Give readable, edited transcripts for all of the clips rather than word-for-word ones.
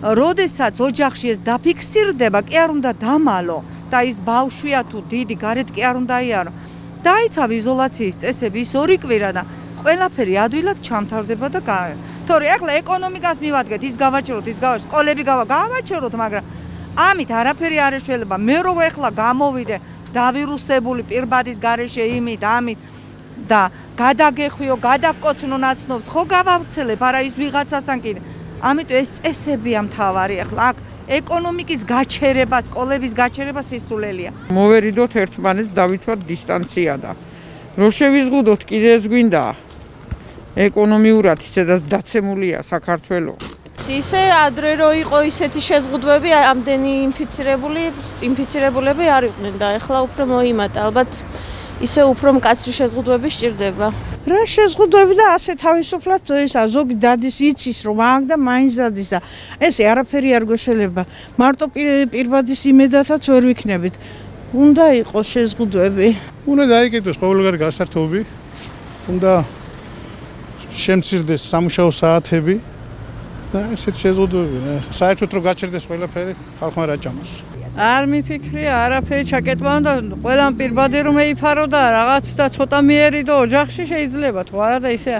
როდესაც ოჯახში ეს დაფიქსირდება, კი არ უნდა დამალო და ის ბავშვია თუ დიდი გარეთ კი არ უნდა იარო. დაიცავ იზოლაციის წესები ის 2 კვირა და ყველაფერი ადვილად ჩამთავრდება და თორე ახლა ეკონომიკას მივადგეთ, ის გავაჩეროთ, ის გავაჩეროთ, სკოლები გავაჩეროთ, მაგრამ ამით არაფერი არ ეშველება. მე რო ახლა გამოვიდე დავირუსებული პირბადის გარეშე იმით, ამით და გადაგეხვიო, გადაგკოცნო ნაცნობს, ხო გავავრცელებ, არა ის ვიღაცასთან კიდე. ამიტომ ეს წესებია მთავარი ახლა აქ ეკონომიკის გაჩერება, სკოლების გაჩერება სისულელია. მოვერიდოთ ერთმანეთს, დავიცვათ დისტანცია და რო შევიზღუდოთ კიდე ეს გვინდა. ეკონომიურად ისედაც დაცემულია საქართველო. ისე ადრე რო იყო ისეთი შეზღუდვები, ამდენი ინფიცირებულები არ იყვნენ და ახლა უფრო მოიმატა. ალბათ ისე უფრო მკაცრი შეზღუდვები სჭირდება. რა შეზღუდვები და ასე თავისუფლად ისა ზოგი დადის იცის რომ აქ და მაინც დადის და ესე არაფერი არ გვეშელება. მარტო პირბადის იმედათაც ვერ ვიქნებით. უნდა იყოს შეზღუდვები. უნდა დაიკეტოს ყოველგვარი გასართობი. უნდა შემცირდეს სამუშაო საათები და ესეთ შეზღუდვები. საერთოდ რომ გაჩერდეს ყველაფერი, ხალხმა რა ჭამოს. არ მიფიქრია, არაფერი ჩაკეტვა უნდა ყველამ პირბადი რომ ეიფარო და რაღაც და ცოტა მიერიდო ოჯახში შეიძლება თუ არა და ისე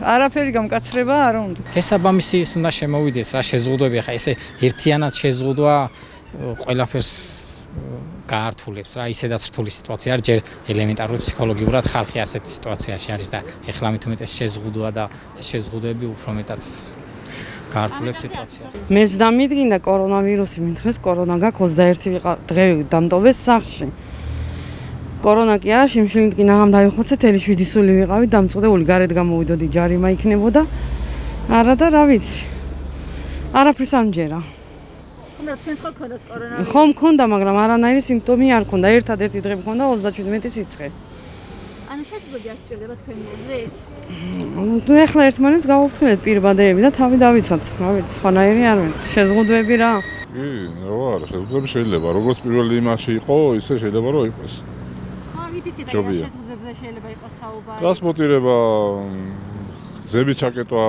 არაფერი გამკაცრება არ უნდა. შესაბამისი ის უნდა შემოვიდეს რა შეზღუდვები, ხა ესე ერთიანად შეზღუდვა ყველაფერს გაართულებს რა, ისედაც რთული სიტუაცია არის, ჯერ ელემენტარულად ფსიქოლოგიურად ხალხი ასეთ სიტუაციაში არის და ეხლა მით უმეტეს შეზღუდვა და შეზღუდვები უფრო მეტად გაართულებს სიტუაციას. მეც დამიდგინდა კორონავირუსი, მით დღეს კორონა გაქვს 21 დღე დამტოვეს სახლში. კორონა კი არა, შემშილდგინა ამ დაიხოცე, თელი 7 სული ვიყავი, დამწყვდეული გარეთ გამოვიდოდი, ჯარიმა იქნებოდა. არა და რა ვიცი. არაფერს ამჯერა. თქვენს ხო გქონდათ კორონავირუსი? ხო მქონდა, მაგრამ არანაირი სიმპტომი არ მქონდა. ერთადერთი დღე მქონდა 37 სიცხე. ანუ შეზღუდვები არ სჭირდება თქვენ მოზრეთ? ნუ ეხლა ერთმანეთს გავუფრთხილეთ პირბადეები და თავი დავიცვათ. რა ვიცი, სხვანაირი არ ვიცი. შეზღუდვები რა? კი, რა, შეზღუდვები შეიძლება. როგორც პირველი იმაში იყო, ისე შეიძლება რომ იყოს. ხო, ვიფიქრეთ, რომ შეზღუდვებზე შეიძლება იყოს საუბარი. ტრანსპორტირება, გზების ჩაკეტვა.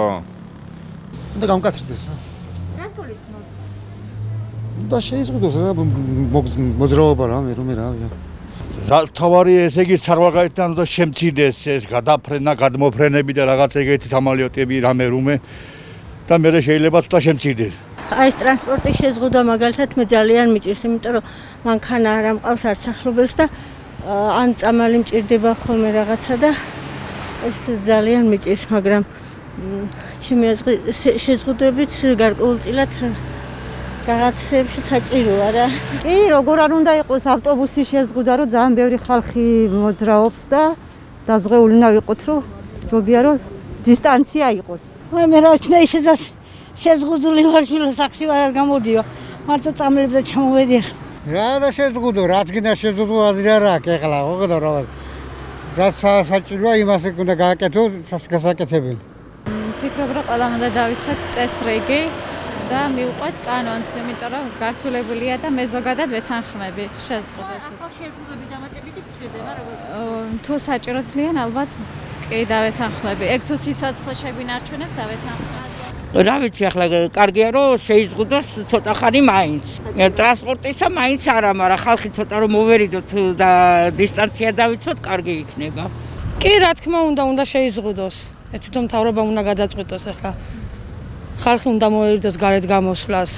უნდა გამკაცრდეს. რას გულისხმობთ? და შეიზღუდოს რა მოძრაობა რა, მე რავია. თავარი ესე იგი სარვაგაიდან და შემცირდეს ეს გადაფრენა, გადმოფრენები და რაღაც ეგეთი სამალიოტები რამე და მე შეიძლება ცოტა შემცირდეს. აი ეს ტრანსპორტის შეზღუდვა მაგალითად მე ძალიან მიჭირს, იმიტომ რომ მანქანა არ ამყავს არც ახლობელს და ან წამალი მჭირდება ხოლმე რაღაცა და ეს ძალიან მიჭირს, მაგრამ ჩემი აზრით შეზღუდვებით გარკვეულწილად რაღაცებში საჭიროა რა. კი, როგორ არ უნდა იყოს ავტობუსის შეზღუდვა, რომ ძალიან ბევრი ხალხი მოძრაობს და დაზღვეული უნდა ვიყოთ, რომ ჯობია რომ დისტანცია იყოს. მე რა მე ისედაც შეზღუდული ვარ შვილო სახში არ გამოდიო. მარტო წამლებზე ჩამოვედი ახლა. რა შეზღუდო, რაც გინდა შეზღუდო აზრი არ აქვს ეხლა, ხო რა. რა საჭიროა იმას უნდა გააკეთო გასაკეთებელი. ფიქრობ რომ ყველამ უნდა დავიცათ წესრიგი და მივყვეთ კანონს, იმიტომ რომ გართულებულია და მე ზოგადად ვეთანხმები შეზღუდვებს. ახლა შეზღუდვები დამატებითი გჭირდება როგორ? თუ საჭიროდ ხლიან ალბათ კი დავეთანხმები. ეგ თუ სიცოცხლე შეგვინარჩუნებს დავეთანხმები. რა ვიცი, ახლა კარგია რომ შეიზღუდოს ცოტა ხანი მაინც. ტრანსპორტისა მაინც არა, მაგრამ ხალხი ცოტა რომ მოვერიდოთ და დისტანცია დავიცვათ, კარგი იქნება. კი, რა თქმა უნდა შეიზღუდოს. თვითონ მთავრობამ უნდა გადაწყვიტოს ახლა. ხალხი უნდა მოერიდოს გარეთ გამოსვლას.